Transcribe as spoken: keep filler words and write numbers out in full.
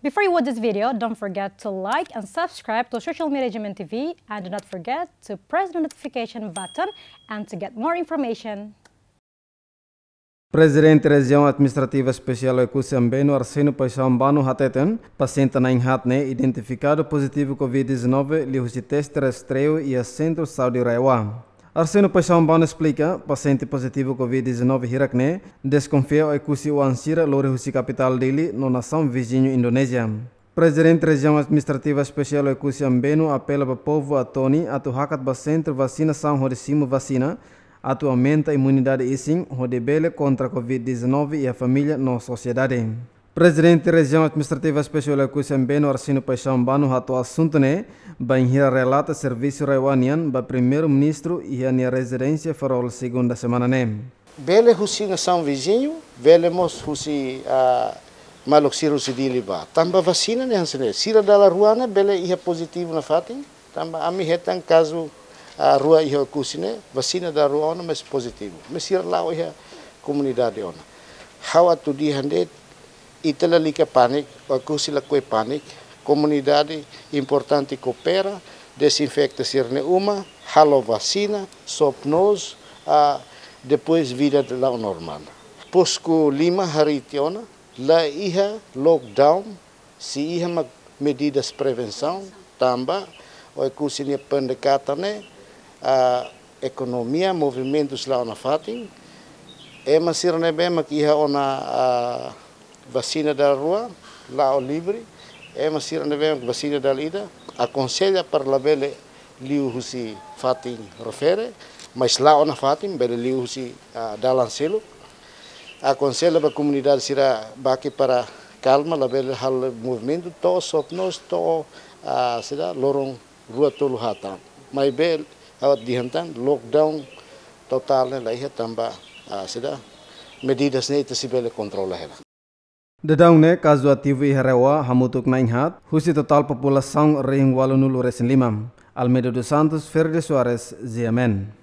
Before you watch this video, don't forget to like and subscribe to Social Media G M N T V, and do not forget to press the notification button and to get more information. Prezidente Rejiaun Administrativa Espesiál Oekusi Ambenu, Arsénio Paixão Ambano, hateten pasiente na'in-haat ne'e identifikadu pozitivu covid dezanove liuhusi teste rastreiu iha Sentru Saúde RAEOA. Arsénio Paixão Ambano esplika, pasiente pozitivu covid dezanove hirak ne'e deskonfia Oekusi oan sira lori husi kapitál Dili no nasaun viziñu Indonézia. Prezidente Rejiaun Administrativa Espesiál Oekusi Ambenu apela ba povu Atoni atu hakat ba sentru vasinasaun hodi simu vasina, atu aumenta imunidade isin, hodi bele kontra covid dezanove iha família no sosiedade. Prezidente Rejiaun Administrativa Espesiál Oekusi Ambenu, Arsénio Paixão Ambano, hato'o asuntu ne'e bainhira relata servisu RAEOA nian ba Primeiru-Ministru iha nia rezidénsia Farol, segunda semana ne'e. Bele husi nasaun viziñu, bele mós husi, ah, maluk sira husi Dili bá. Tanba vasina ne'e hanesan ne'e, sira dala rua ne'e bele iha pozitivu nafatin, tanba ami hetan kazu, ah, rua iha Oekusi ne'e, vasina dala rua ona mais pozitivu. Mais sira la'o iha komunidade ona. Ha'u atu dehan de'it, ita lalika pániku, Oekusi lakohi pániku, komunidade importante koopera, dezinfeta sira-nia uma, halo vasina, sop-noos, ah, depois vida la'o normál. Posko lima harii tiha ona, la iha lockdown, sei iha mak medidas prevensaun, tanba Oekusi nia pendekatan ne'e, ah, ekonomia, movimentus la'o nafatin, ema sira ne'ebé mak iha ona, ah, vasina dala rua, la'o livre, ema sira ne'ebé mak vasina dala ida, akonsella para labele liu husi fatin refere, mais la'o nafatin, bele liu husi, ah, dalan seluk. Akonsella ba komunidade sira baki para kalma, labele halo movimentu, to'o sop-noos, to'o, ah, sira loron rua tolu haat tan. Maibé, ha'u atu dehan tan, lockdown totál ne'e la iha tanba, ah, sira medidas ne'e ita sei bele kontrola hela. Daudaun ne'e kazu ativu iha RAEOA hamutuk na'in-haat, husi totál populasaun rihun ualunulu-resin-lima. Almeida dos Santos, Ferreira Soares, G M N.